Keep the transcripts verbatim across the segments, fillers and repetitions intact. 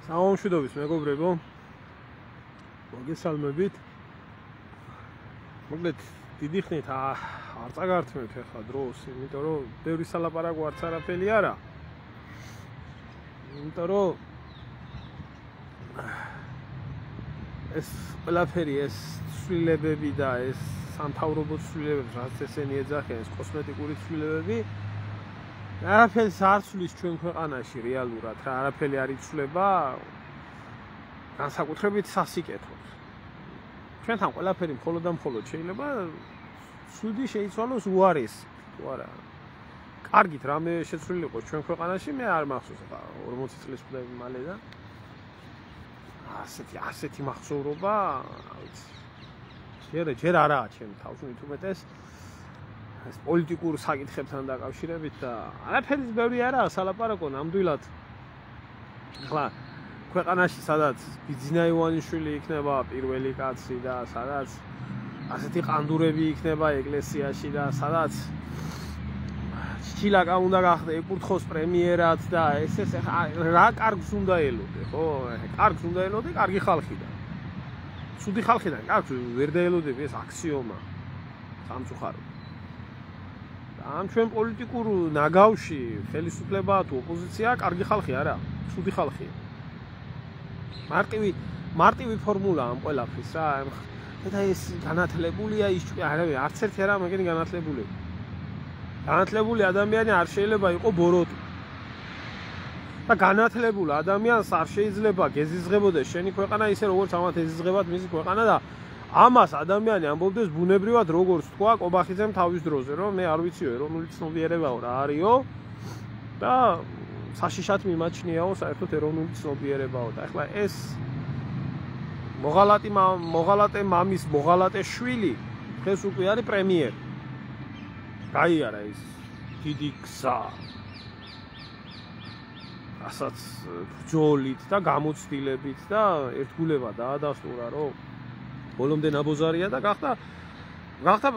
Საუამშვიდობის მეგობრებო, მოგესალმებით. მოკლედ დიდი ხნით არ წაგართმევთ ახლა დროს, იმიტომ რომ ბევრი სალაპარაკო არც არაფერი არა. იმიტომ რომ ეს ყველაფერი ეს ცვლილებები და ეს სამთავრობო ცვლილებები, რაც ესენი ეძახიან, ეს კოსმეტიკური ცვლილებები არაფერს არ ცვლის ჩვენ ქვეყანაში რეალურად, რა არაფერი არ იცვლება განსაკუთრებით სასიკეთოდ. ჩვენთან ყველაფერი მხოლოდ და მხოლოდ შეიძლება ცუდი შეიცვალოს უარესი, თუ არა. კარგით რამე შეცვლილიყო ჩვენ ქვეყანაში, მე არ მახსოვს ახლა ორმოცი წლის ვხვდები მალე და ასეთი ასეთი მახსოვრობა, ვიცი. ჯერ ჯერ არაა ჩემ თავს მით უმეტეს ეს პოლიტიკურ საკითხებთან დაკავშირებით და არაფერი ბევრი არაა სალაპარაკო ნამდვილად. ახლა ქვეყანაში სადაც ბიძინა ივანიშვილი იქნება პირველი კაცი და სადაც ასეთი ყანდურები იქნება ეკლესიაში და სადაც ჩილაკა უნდა გახდე ეკურთხოს პრემიერად და ეს ეს რა კარგს უნდა ელოდე, ხო? კარგს უნდა ელოდე, კარგი ხალხიდან. ცუდი ხალხიდან კარგს ვერ დაელოდები, ეს აქსიომა სამწუხაროდ. ამ ჩვენ პოლიტიკურ ნაგავში ხელისუფლება თუ ოპოზიცია კარგი ხალხი არა, ცუდი ხალხია. მარტივი მარტივი ფორმულა ამ ყველაფრის რა. და ეს განათლებულია ის არავე არც ერთი არა მაგენი განათლებული. განათლებული ადამიანი არ შეიძლება იყოს ბოროტი. და განათლებულ ადამიანს არ შეიძლება გეზიზღებოდეს შენი ქვეყანა ისე როგორც ამათ ეზიზღებათ მისი ქვეყანა და ამას ადამიანი ამბობდეს ბუნებრივად როგორც თქვა კობახიძემ თავის დროზე, რომ მე არ ვიციო ეროვნული ცნობიერებაო რა არისო და საშიშად მიმაჩნიაო საერთოდ ეროვნული ცნობიერებაო და ახლა ეს მოღალატე მოღალატე მამის მოღალატე შვილი დღეს უკვე არის პრემიერი. გაიარა ის დიდი გზა ასაც ბრძოლით და გამოცდილებით და ერთგულება დაადასტურა რომ ბოლომდე ნაბოზარია და გახდა გახდა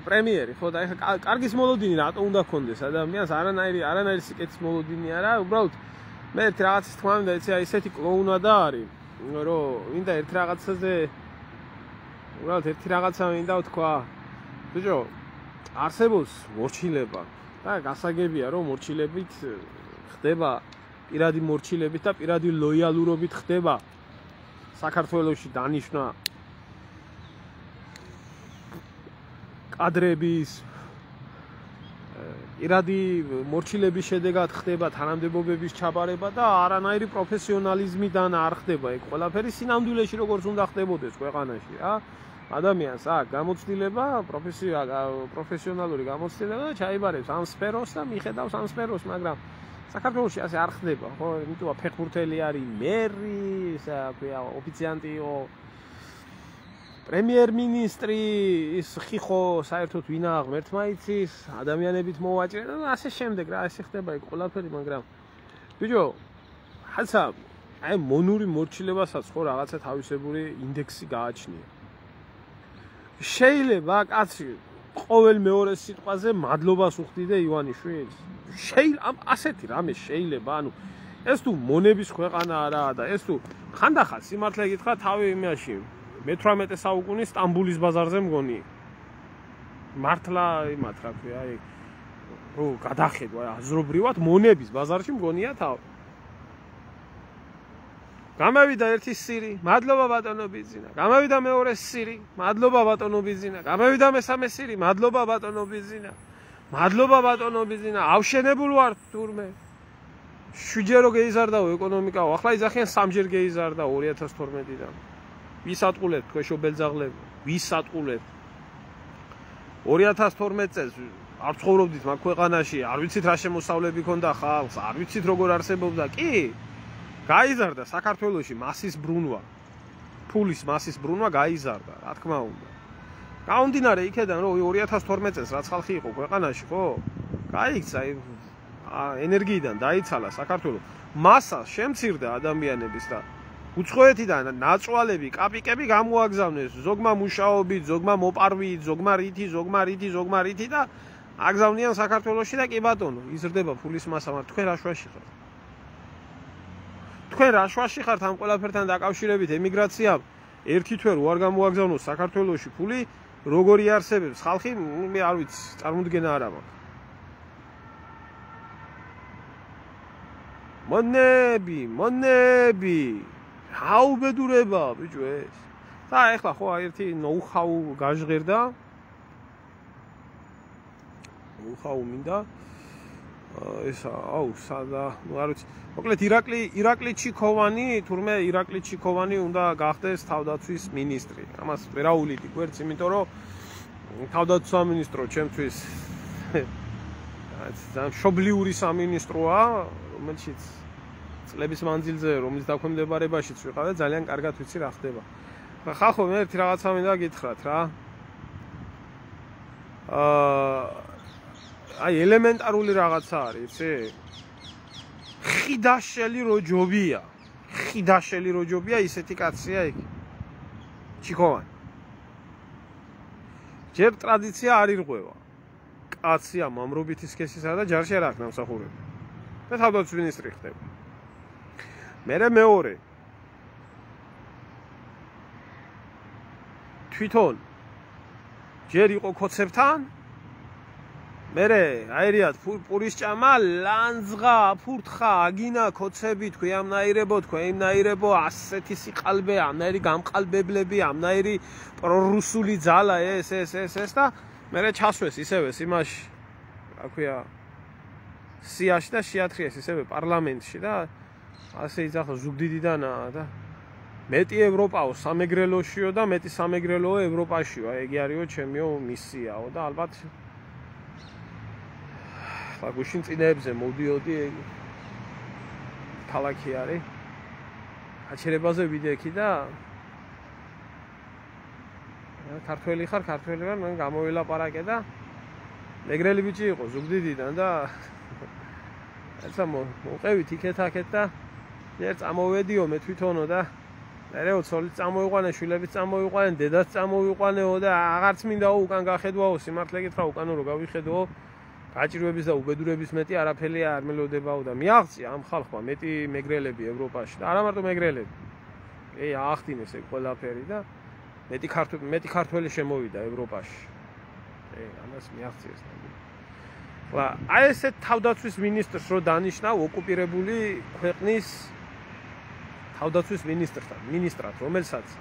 პრემიერი, ხო და ეხლა კარგის მოლოდინი რატო უნდა გქონდეს ადამიანს არანაირი არანაირი სიკეთის მოლოდინი არა, უბრალოდ მე ერთ რაღაცის თქმა მინდა, იცი აი ესეთი კლოუნადა არის, რომ მინდა ერთ რაღაცაზე უბრალოდ ერთი რაღაცა მინდა ვთქვა. ბიჭო, არსებობს მორჩილება და გასაგებია რომ მორჩილებით ხდება პირადი მორჩილებით და პირადი ლოიალურობით ხდება საქართველოში დანიშნა კადრების პირადი მორჩილების შედეგად ხდება თანამდებობების ჩაბარება და არანაირი პროფესიონალიზმიდან არ ხდება ეგ ყველაფერი სინამდვილეში როგორც უნდა ხდებოდეს ქვეყანაში რა. ადამიანს აქვს გამოცდილება, პროფესიონალური გამოცდილება და ჩაიბარებს ამ სფეროს და მიხედავს ამ სფეროს, მაგრამ საქართველოში ასე არ ხდება, ხო? იმიტომ რომ ფეხბურთელი არის მერი, ისა ქვია ოფიციანტიო პრემიერ-მინისტრი, ის ხიხო საერთოდ ვინა ღმერთმა იცის, ადამიანებით მოვაჭრე და ასე შემდეგ რა, ასე ხდება ეგ ყველაფერი, მაგრამ ბიჭო, ხაცა აი მონური მორჩილებასაც ხო რაღაცა თავისებური ინდექსი გააჩნია. შეიძლება კაცი ყოველ მეორე სიტყვაზე მადლობას უხდიდე ივანიშვილს. შეიძლება ასეთი რამე შეიძლება, ანუ ეს თუ მონების ქვეყანა არაა და ეს თუ ხანდახან სიმართლე გითხრა თავი იმაში მეთვრამეტე საუკუნის სტამბულის ბაზარზე მგონი. მართლა იმათ რა ქვია, აი რო გადახედვა აზრობრივად მონების ბაზარში მგონია თავი. გამევიდა ერთი სირი, მადლობა ბატონო ბიზინა. გამევიდა მეორე სირი, მადლობა ბატონო ბიზინა. გამევიდა მესამე სირი, მადლობა ბატონო ბიზინა. მადლობა ბატონო ბიზინა. ავშენებულ ვარ თურმე. შვიდჯერო გეიზარდაო ეკონომიკაო. ახლა იძახიან სამჯერ გეიზარდა ორი ათას თორმეტიდან. ვის ატყულებთ ქვეშო ბელძაღლები? ვის ატყულებთ? ორი ათას თორმეტ წელს არ ცხოვრობდით მაგ ქვეყანაში, არ ვიცით რა შემოსავლები ქონდა ხალხს, არ ვიცით როგორ არსებობდა. კი გაიზარდა საქართველოში მასის ბრუნვა. ფულის მასის ბრუნვა გაიზარდა, რა თქმა უნდა. გაუნდინარე იქედან რომ ორი ათას თორმეტ წელს რაც ხალხი იყო ქვეყანაში, ხო? გაიქცა ენერგიიდან დაიცალა საქართველო. მასა შემცირდა ადამიანების და უცხოეთიდან ნაწვალები, კაპიკები გამოაგზავნეს ზოგმა მუშაობით, ზოგმა მოპარვით, ზოგმა რითი, ზოგმა რითი, ზოგმა რითი და აგზავნიან საქართველოში და კი ბატონო, იზრდება ფულის მასა, მაგრამ თქვენ რა შვაში ხართ? თქვენ რა შვაში ხართ ამ ყველაფერთან დაკავშირებით ემიგრაციამ ერთი თვე რო არ გამოაგზავნოს საქართველოში ფული როგორი არსებობს ხალხი მე არ ვიცი წარმოუდგენა არ აქვს მონები მონები რა უბედურება ბიჭო ეს და ეხლა ხო ერთი ნოუ-ჰაუ გაჟღერდა ნოუ-ჰაუ მინდა ესა აუ სადა ნუ არ ვიცი მოკლედ ირაკლი ირაკლი ჩიქოვანი თურმე ირაკლი ჩიქოვანი უნდა გახდეს თავდაცვის მინისტრი ამას ვერაულიდი გვერდს იმიტომ რომ თავდაცვის სამინისტრო ჩემთვის ძალიან მშობლიური სამინისტროა რომელშიც წლების მანძილზე რომლის დაქვემდებარებაშიც ვიყავ და ძალიან კარგად ვიცი რა ხდება ხახო მე ერთი რაღაცა მინდა გითხრათ რა აა აი ელემენტარული რაღაცა არის იცი ხიდაშელი როჯობია ხიდაშელი როჯობია ისეთი კაცია იქ ჩიქოვანი ჯერ ტრადიცია არ ირღვევა კაცია მამრობითი სქესისა და ჯარში არ აქვს ნამსახურები და თავდაცვის მინისტრი ხდება მერე მეორე თვითონ ჯერ იყო ქოცებთან მერე აერიად პურის ჭამა ლანძღა ფურთხა აგინა ქოცები თქვი ამნაირებო თქვი იმნაირებო ასეთი სიყალბე ამნაირი გამყალბებლები ამნაირი პრორუსული ძალა ეს ეს ეს ეს და მერე ჩასვეს ისევე იმაში რა ქვია სიაში და შეათრიეს ისევე პარლამენტში და ასე იძახა ზუგდიდიდანაა და მეტი ევროპაო სამეგრელოშიო და მეტი სამეგრელოო ევროპაშიო აი ეგ არისო ჩემიო მისიაო და ალბათ ხა გუშინ წინეებზე მოდიოდი ქალაქი არის აჩერებაზე ვიდექი და ქართველი ხარ ქართველი ვარ მან გამოვილაპარაკე და მეგრელი ბიჭი იყო ზუგდიდიდან და ეცა მოყევით იქეთ-აქეთ და ერთ წამოვედიო მე თვითონო და მერეო ცოლი წამოიყვანე შვილები წამოიყვანე დედაც წამოიყვანეო და აღარც მინდაო უკან გახედვაო სიმართლე გითხრა უკანო რო გავიხედო გაჭირვების და უბედურების მეტი არაფერი არ მელოდებაო და მიაღწია ამ ხალხმა მეტი მეგრელები ევროპაში და არა მარტო მეგრელები ე აახდინეს ეგ ყველაფერი და მეტი ქართველი მეტი ქართველი შემოვიდა ევროპაში ე ამას მიაღწიეს და აი ესე თავდაცვის მინისტრს რო დანიშნავ ოკუპირებული ქვეყნის თავდაცვის მინისტრთან მინისტრად რომელსაც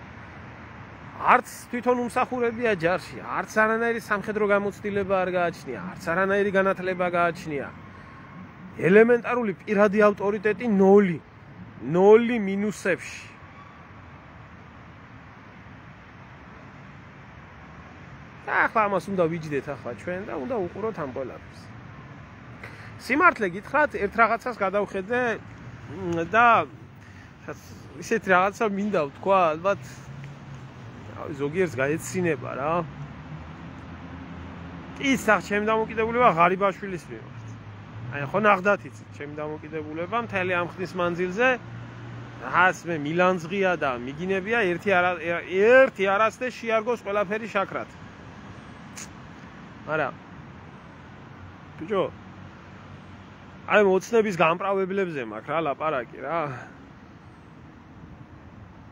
არც თვითონ უმსახურებია ჯარში, არც არანაირი სამხედრო გამოცდილება არ გააჩნია, არც არანაირი განათლება გააჩნია. ელემენტარული პირადი ავტორიტეტი ნოლი, ნოლი მინუსებში. ახლა ამას უნდა ვიჯდეთ ახლა ჩვენ და უნდა უყუროთ ამ ყველაფერს. სიმართლე გითხრათ, ერთ რაღაცას გადავხედე და ისეთი რაღაცა მინდა ვთქვა, ალბათ ზოგიერთს გაეცინება რა. კი, სახ ჩემი დამოკიდებულება ღარიბაშვილის მიმართ. აი ხო ნახდათ იცით, ჩემი დამოკიდებულება მთელი ამ ხნის მანძილზე რას მე მილანძღია და მიგინებია ერთი არა ერთი არასდე შეარგოს ყველაფერი შაქრად. არა. ბიჭო. აი მოცნების გამправებლებზე მაქვს რა ლაპარაკი რა.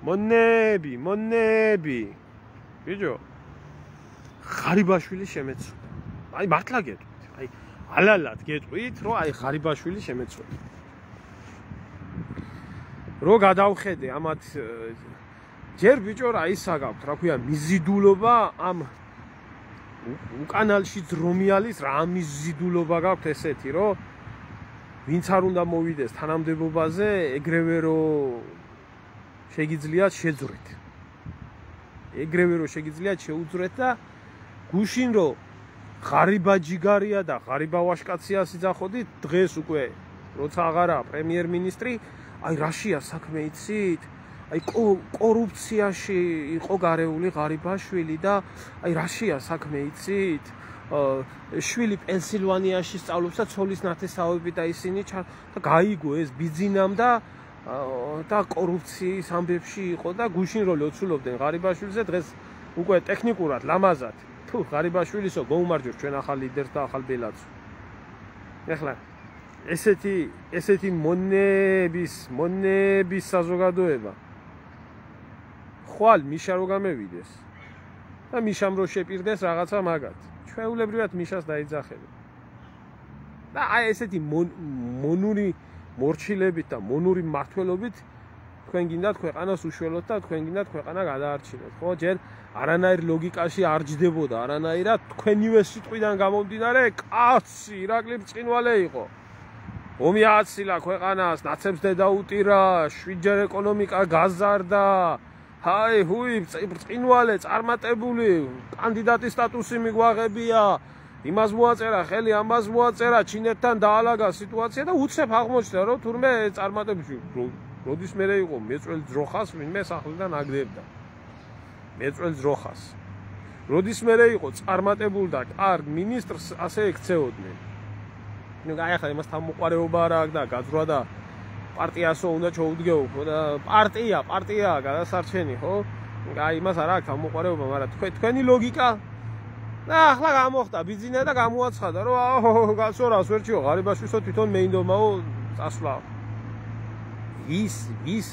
მონები, მონები. ბიჭო. ღარიბაშვილი შემეცვლა. აი მართლა გეტყვით. აი ალალად გეტყვით, რომ აი ღარიბაშვილი შემეცვლა. რო გადავხედე ამათ ჯერ ბიჭო რა ისა გაქვთ, რა ქვია, მიზიდულობა ამ უკანალში ძრომიალის რა მიზიდულობა გაქვთ ესეთი, რომ ვინც არ უნდა მოვიდეს თანამდებობაზე, ეგრევე რომ შეგიძლიათ შეძვრეთ. ეგრევე რომ შეგიძლიათ შეუძვრეთ და გუშინ რომ ღარიბა ჯიგარია და ღარიბა ვაშკაცია სიძახოდით, დღეს უკვე როცა აღარა პრემიერ-მინისტრი, აი რაშია საქმე იცით? აი კორუფციაში იყო გარეული ღარიბაშვილი და აი რაშია საქმე იცით? შვილი პენსილვანიაში სწავლობს და ცოლის ნათესავები და ისინი და გაიგო ეს ბიძინამ და და კორუფციის ამბებში იყო და გუშინ რო ლოცულობდნენ ღარიბაშვილზე დღეს უკვე ტექნიკურად ლამაზად თუ ღარიბაშვილისო გოუმარჯოს ჩვენ ახალ ლიდერს და ახალ ბელაძს ეხლა ესეთი ესეთი მონების მონების საზოგადოება ხვალ მიშა რო გამევიდეს და მიშამ რო შეპირდეს რაღაცა მაგათ ჩვეულებრივად მიშას დაიძახებენ და აი ესეთი მონური მორჩილებით და მონური მართლობით თქვენ გინდათ ქვეყანას უშველოთ და თქვენ გინდათ ქვეყანა გადაარჩინოთ ხო ჯერ არანაირ ლოგიკაში არ ჯდებოდა არანაირად თქვენივე სიტყვიდან გამომდინარე კაცი ირაკლი ბრწყინვალე იყო ომი აცილა ქვეყანას ნაცებს დედაუტირა შვიდჯერ ეკონომიკა გაზარდა ჰაი ჰუი ბრწყინვალე წარმატებული კანდიდატის სტატუსი მიგვაღებია იმას მოაწერა ხელი ამას მოაწერა ჩინეთთან დაალაგა სიტუაცია და უცებ აღმოჩნდა რომ თურმე წარმატებული როდის მერე იყო მეწველ ძროხას ვინმე სახლიდან აგდებდა მეწველ ძროხას როდის მერე იყო წარმატებული და კარგ მინისტრს ასე ექცეოდნენ ნუ აი ახლა იმას თავმოყარეობა არა აქვს და გაძრვა და პარტიასო უნდა ჩოუდგეო ხო და პარტია პარტიაა გადასარჩენი ხო აი იმას არა აქვს თავმოყარეობა მაგრამ თქვენ თქვენი ლოგიკა და ახლა გამოხდა ბიზნესა და გამოაცხადა რომ აჰო კაცო რას ვერჩიო ღარიბაშვილო თვითონ მეინდომაო წასვლა ის ის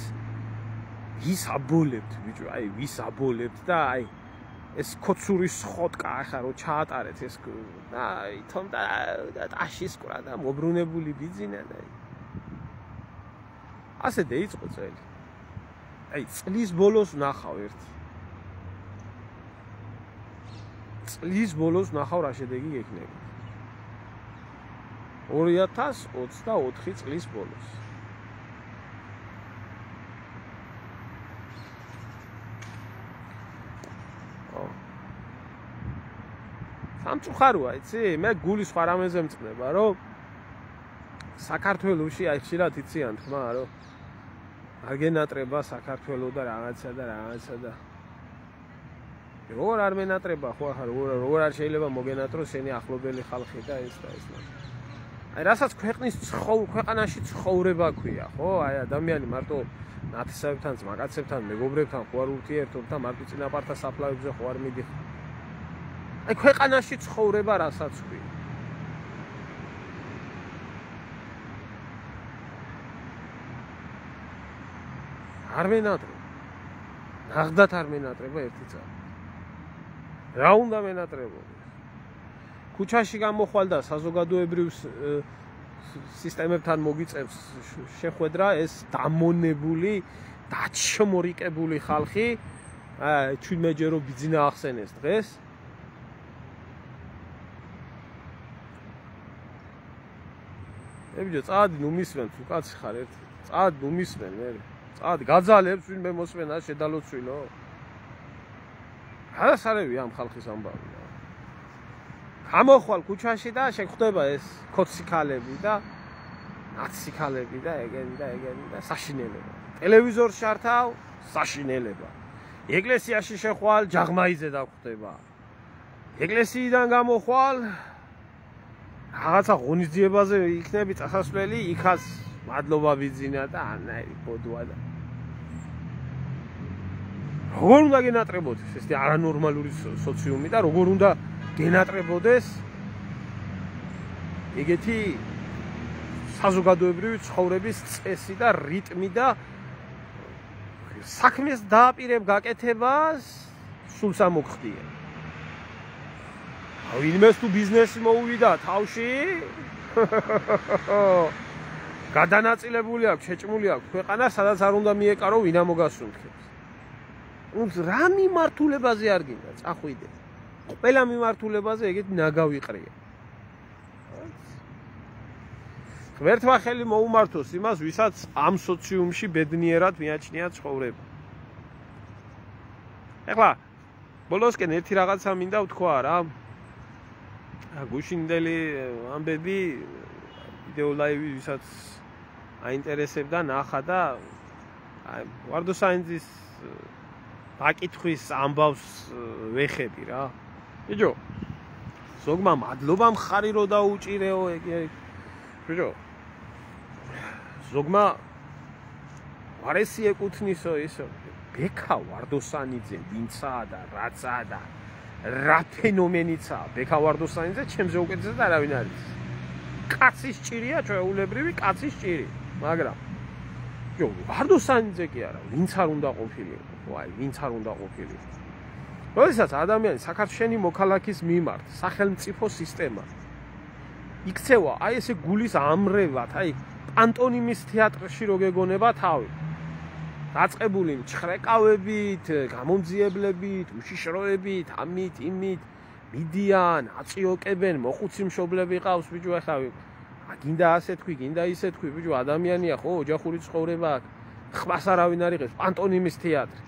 ის აბოლებთ ბიჭო აი ვის აბოლებთ და აი ეს კოცურის ხოტკა ახლა რო ჩაატარეთ ეს და აი თომ და ტაშის ყრა და მობრუნებული ბიზნესა და ასე დაიწყო წელი აი წლის ბოლოს ნახავ ერთი წლის ბოლოს ნახავ რა შედეგი ექნება ორი ათას ოცდაოთხი წლის ბოლოს სამწუხაროა იცი მე გული სხვა რამეზე მწყდება რომ საქართველოში აი ხშირად იციან თქმა რომ არ გენატრება საქართველო და რაღაცა და რაღაცა და როგორ არ მენატრება ხო ახლა როგორ არ შეიძლება მოგენატროს შენი ახლობელი ხალხი და ეს და ეს აი რასაც ქვეყნის ქვეყანაში ცხოვრება ქვია ხო აი ადამიანი მარტო ნათესავებთან ძმაკაცებთან მეგობრებთან ხო არ ურთიერთობ და მარტო წინაპართა საფლავებზე ხო არ მიდიხარ აი ქვეყანაში ცხოვრება რასაც ქვია არ მენატრება ნახდათ არ მენატრება ერთი წელი რა უნდა მენატრებოდეს ქუჩაში გამოხვალ და საზოგადოებრივ სისტემებთან მოგიწევს შეხვედრა ეს დამონებული დაჩმორიკებული ხალხი აი ჩვენმეჯერო ბიძინა ახსენეს დღეს ებიჯო წადი ნუ მისმენ თუ კაცი ხარ ერთი წადი ნუ მისმენ მე წადი გაძალებს ვინმე მოსმენა შედალოცვილო გადასარევი ამ ხალხის ამბავი გამოხვალ ქუჩაში და შეგხვდება ეს კოციქალები და ნაციქალები და ეგენი და ეგენი და საშინელება ტელევიზორს შართავ საშინელება ეკლესიაში შეხვალ ჯაღმაიძე დაგხვდება ეკლესიიდან გამოხვალ რაღაცა ღონისძიებაზე იქნები წასასვლელი იქაც მადლობა ბიძინა და ანაირი ბოდვა და როგორ უნდა გენატრებოდეს ეს არანორმალური სოციუმი და როგორ უნდა გენატრებოდეს ეგეთი საზოგადოებრივი ცხოვრების წესი და რიტმი და საქმეს დააპირებ გაკეთებას სულ სამოგხდია ვინმეს თუ ბიზნესი მოუვიდა თავში გადანაწილებული აქვს შეჭმული აქვს ქვეყანა სადაც არ უნდა მიეკარო ვინა მოგასუნთქებს უშ რა მიმართულებაზე არ გინდა წახვიდე ყველა მიმართულებაზე ეგეთი ნაგავიყრია ღმერთმა ხელი მოუმართოს იმას ვისაც ამ სოციუმში ბედნიერად მიაჩნია ცხოვრება ეხლა ბოლოსკენ ერთი რაღაცა მინდა ვთქვა რა გუშინდელი ამბები ვიდეო ლაივი ვისაც აინტერესებდა ნახა და აი ვარდოსაინძის დაკითხვის ამბავს ვეხები რა ბიჭო ზოგმა მადლობა მხარი რო დაუჭირეო ეგ ბიჭო ზოგმა ვარესი ეკუთვნისო ისო ბექა ვარდოსანიძე ვინცაა და რაცაა და რა ფენომენიცაა ბექა ვარდოსანიძე ჩემზე უკეთესად არავინ არის კაცის ჭირია, ჩვეულებრივი კაცის ჭირი, მაგრამ ჯო, ვარდოსანიძე კი არა, ვინც არ უნდა ყოფილიყო, ვაი, ვინც არ უნდა ყოფილიყო. როდესაც ადამიანი საქართველოს მოქალაქის მიმართ სახელმწიფო სისტემა იქცევა, აი ესე გულის ამრევად, აი პანტონიმის თეატრში რო გეგონება თავი. დაწყებული მჩხრეკავებით, გამომძიებლებით, უშიშროებით, ამით, იმით, მიდიან, აწიოკებენ, მოხუცი მშობლები ყავს, ბიჭო, ახლა გინდა ასე თქვი, გინდა ისე თქვი, ბიჭო, ადამიანია ხო, ოჯახური ცხოვრება აქვს. ხმას არავინ არ იღებს, პანტონიმის თეატრი.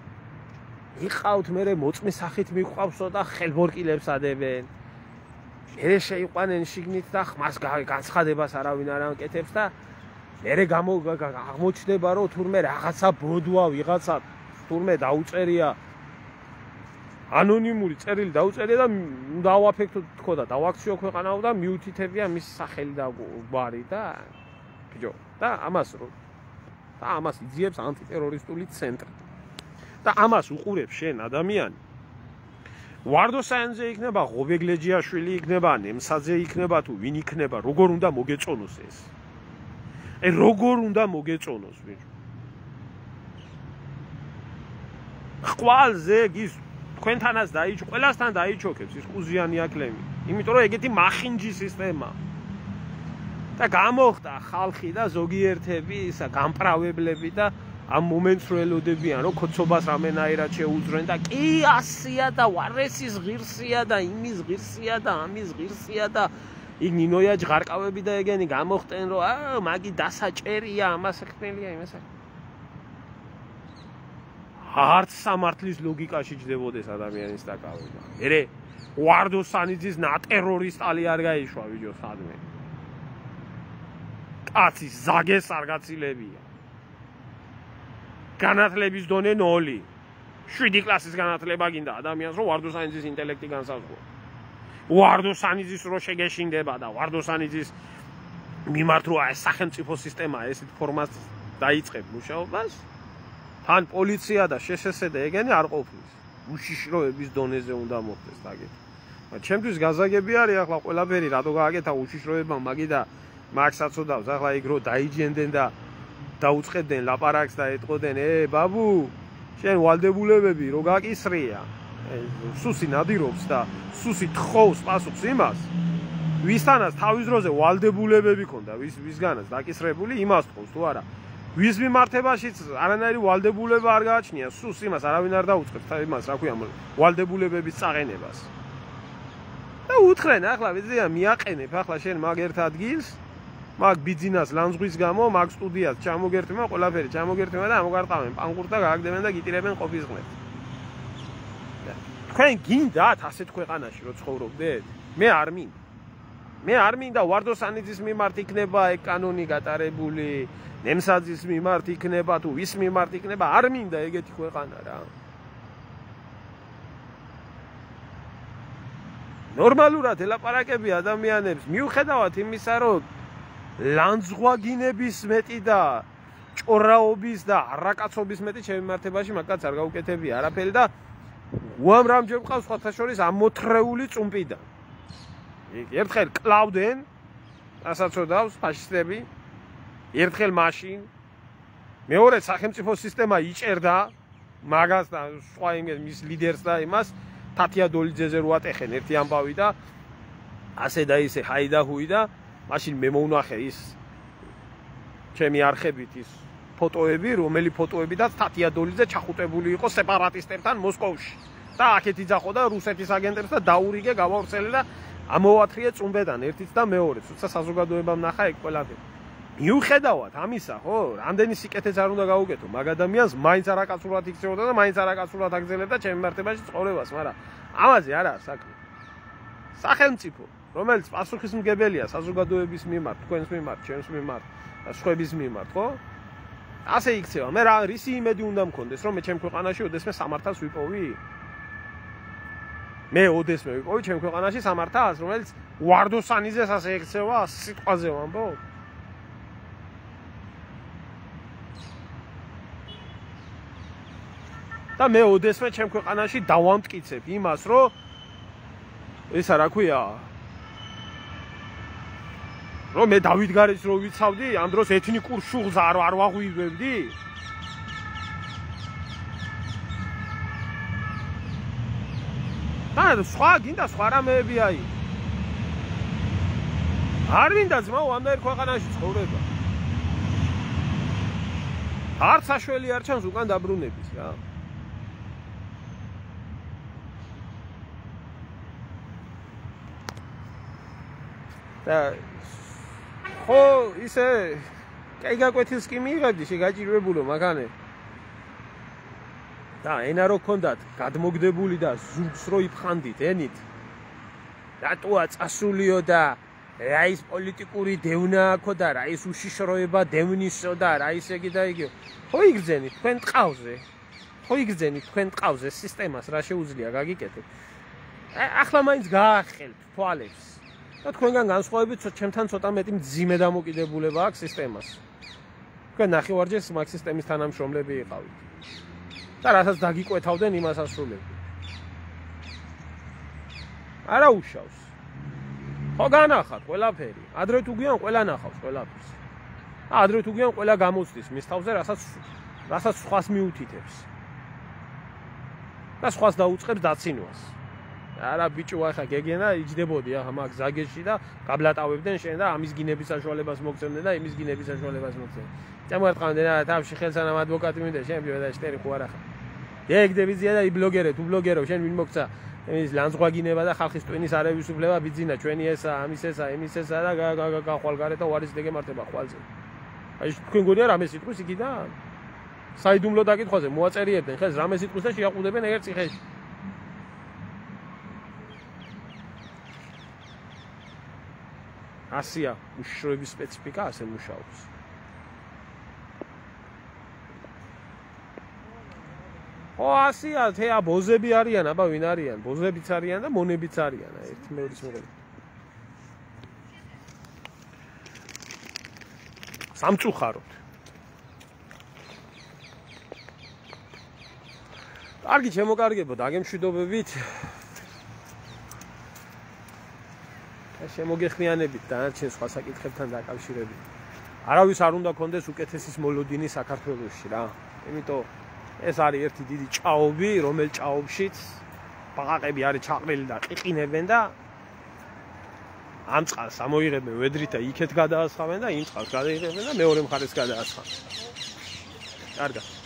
იყავთ მერე მოწმის სახით მიყვავსო და ხელბორკილებს ადებენ. მერე შეიყვანენ შიგნით და ხმას განცხადებას არავინ არ ანკეთებს და მერე აღმოჩნდება რომ თურმე რაღაცა ბოდვა ვიღაცა თურმე დაუწერია ანონიმური წერილი დაუწერია და დავაფექტო თქო და დავაქციო ქვეყანაო და მიუთითებია მის სახელი და გვარი და ბიჭო და ამას რო და ამას იძიებს ანტიტერორისტული ცენტრი და ამას უყურებს შენ ადამიანი ვარდოსანიძე იქნება ღობეგლეჯიაშვილი იქნება ნემსაძე იქნება თუ ვინ იქნება როგორ უნდა მოგეწონოს ეს აი როგორ უნდა მოგეწონოს ბიჭო ხვალზე ის თქვენთანაც დაიჭ ყველასთან დაიჩოქებს ის ყუზიანი აკლემი იმიტომ რომ ეგეთი მახინჯი სისტემა და გამოხდა ხალხი და ზოგიერთები ისა გამპრავებლები და ამ მომენტს რო ელოდებიან რომ ქოცობას რამენაირად შეუძრენ და კი ასია და ვარესის ღირსია და იმის ღირსია და ამის ღირსია და იქ ნინოია ჯღარკავები და ეგენი გამოხტენ რომ აა მაგი დასაჭერია ამას ხნელია იმასა არც სამართლის ლოგიკაში ჯდებოდეს ადამიანის დაკავება მერე ვარდოსანიძის ნატერორისტალი არ გაიშვა ვიდეო სადმე კაცის ზაგეს არ გაცილებია განათლების დონე ნოლი. შვიდი კლასის განათლება გინდა ადამიანს რომ ვარდოსანიძის ინტელექტი განსაზღვრა. ვარდოსანიძის რო შეგეშინდება და ვარდოსანიძის მიმართ რო აი სახელმწიფო სისტემა ესეთ ფორმას დაიწყებ მუშაობას, თან პოლიცია და შსს და ეგენი არ ყოფნის. უშიშროების დონეზე უნდა მოხდეს დაგეთ. ჩემთვის გაზაგები არის ახლა ყველაფერი რატო გააკეთა უშიშროება მაგი და მაგს აწოდავს ახლა იქ რო დაიჯენდენ და დაუწყებდნენ ლაპარაკს და ეტყოდნენ ე ბაბუ შენ ვალდებულებები რო გაკისრია სუსი ნადირობს და სუსი თხოვს პასუხს იმას ვისთანაც თავის დროზე ვალდებულებები ქონდა ვის ვისგანაც დაკისრებული იმას თხოვს თუ არა ვის მიმართებაშიც არანაირი ვალდებულება არ გააჩნია სუს იმას არავინ არ დაუწყებს იმას რა ქვია ვალდებულებების წაყენებას და უთხრენ ახლა ვიზია მიაყენებ ახლა შენ მაგ ერთ ადგილს მაგ ბიძინას ლანძღვის გამო მაგ სტუდიას ჩამოგერთმა ყველაფერი ჩამოგერთმა და ამოგარტყავენ პანკურს და გააგდებენ და გიტირებენ ყოფის ღმერთს თქვენ გინდათ ასეთ ქვეყანაში რო ცხოვრობდეთ მე არ მინდა მე არ მინდა ვარდოსანიძის მიმართ იქნება ეგ კანონი გატარებული ნემსაძის მიმართ იქნება თუ ვის მიმართ იქნება არ მინდა ეგეთი ქვეყანა რა ნორმალურად ელაპარაკები ადამიანებს მიუხედავად იმისა რომ ლანძღვაგინების მეტი და ჭორაობის და არაკაცობის მეტი შემიმართებაში მაგაც არ გაუკეთებია არაფერი და უამრავჯერ მყავს სხვათა შორის ამოთრეული წუმპიდან ერთხელ კლავდნენ ასაცოდავს ფაშისტები ერთხელ მაშინ მეორე სახელმწიფო სისტემა იჭერდა მაგას და სხვა იმის ლიდერს და იმას თათია დოლიძეზე რო ატეხენ ერთი ამბავი და ასე და ისე ჰაიდაჰუი და მაშინ მე მოვნახე ის ჩემი არხებით ის ფოტოები, რომელი ფოტოებიდაც თათია დოლიძე ჩახუტებული იყო სეპარატისტებთან მოსკოვში. და აქეთ იძახო და რუსეთის აგენტებს და დაურიგე გავავრცელე და ამოვათრიე წუმბედან ერთიც და მეორეც. უცა საზოგადოებამ ნახა ეგ ყველაფერი. მიუხედავად ამისა, ხო, რამდენი სიკეთეც არ უნდა გაუკეთო, მაგ ადამიანს მაინც არაკაცურად იქცეოდა და მაინც არაკაცურად აგზელებდა ჩემი მარტებაში ცხოვრებას, მაგრამ ამაზე არა აქვს საქმე. სახელმწიფო რომელიც პასუხისმგებელია საზოგადოების მიმართ, თქვენს მიმართ, ჩემს მიმართ და სხვების მიმართ, ხო? ასე იქცევა. მე რა რისი იმედი უნდა მქონდეს, რომ მე ჩემ ქვეყანაში ოდესმე სამართალს ვიპოვი? მე ოდესმე ვიპოვი ჩემ ქვეყანაში სამართალს, რომელიც ვარდოსანიძეს ასე ექცევა, სიტყვაზე ვამბობ? და მე ოდესმე ჩემ ქვეყანაში დავამტკიცებ იმას, რომ ისა რა ქვია? რომ მე დავითგარეს რო ვიცავდი, ამ დროს ეთნიკურ შუღლს არ არ ვაღვივებდი? და სხვა გინდა სხვა რამეები აი. არ მინდა ძმაო ამდენ ქვეყანაში ცხოვრება. არც საშველი არ ჩანს უკან დაბრუნების რა. და ხო ისე კაიგაკვეთილს კი მიიღებდი შეგაჭირებულო მაგანე. და ენა რო ქონდათ გადმოგდებული და ზურგს რო იფხანდით ენით. რატოა წასულიო და რა ის პოლიტიკური დევნა აქო და რა ის უშიშროება დევნისო და რა ის ეგი და იგივე. ხო იგრძენით თქვენ ტყავზე. ხო იგრძენით თქვენ ტყავზე სისტემას რა შეუძლია გაგიკეთეთ. ახლა მაინც გაახელთ თვალებს. და თქვენგან განსხვავებით ჩემთან ცოტა მეტი მძიმე დამოკიდებულება აქვს სისტემას. თქვენ ნახევარჯერ მაგ სისტემის თანამშრომლები იყავით. და რასაც დაგიკვეთავდნენ იმას ასრულებდი. არა უშავს. ხო განახათ ყველაფერი. ადრე თუ გვიან ყველა ნახავს ყველაფერს. ადრე თუ გვიან ყველა გამოცდის მის თავზე რასაც რასაც სხვას მიუთითებს. და სხვას დაუწყებს დაცინვას. არა ბიჭო ახლა გეგენა იჯდებოდი ახლა მაგ ზაგეში და გაბლატავებდნენ შენ და ამის გინების საშუალებას მოგცემდნენ და იმის გინების საშუალებას მოგცემდნენ. წამოერტყავდნენ რა თავში ხელსანამ ადვოკატი მინდა შენ და შტერი ხო არა ხა. გეგდებიზია და იბლოგერე თუ ბლოგერო შენ ვინ მოგცა ის ლანძღვა გინება და ხალხის ტვინის არევისუფლება ბიძინა ჩვენი ესა ამის ესა იმის ესა და გახვალ გარეთ და უარის დეგემართება ხვალზე. აი თქვენ გონია რამე სიტყვის იქიდან? საიდუმლო დაკითხვაზე მოაწერიებდნენ ხელს რამე სიტყვის და შეაყუდებენ ერთ ციხეში. ასია უშიშროების სპეციფიკა ასე მუშაობს. ო ასია თეა ბოზები არიან, აბა ვინ არიან? ბოზებიც არიან და მონებიც არიან, ერთი მეორის მოყოლი. სამწუხაროდ. კარგი შემოკარგებო, დაგემშვიდობებით. შემოგეხმიანებით დანარჩენ სხვა საკითხებთან დაკავშირებით. არავის არ უნდა კონდეს უკეთესის მოლოდინი საქართველოში რა. იმიტომ ეს არის ერთი დიდი ჭაობი, რომელ ჭაობშიც ბაყაყები არის ჩაყრილი და ყიყინებენ და ამ წყალს ამოიღებენ ვედრით და იქეთ გადაასხამენ და იმ წყალს გადაიღებენ და მეორე მხარეს გადაასხამენ. კარგად.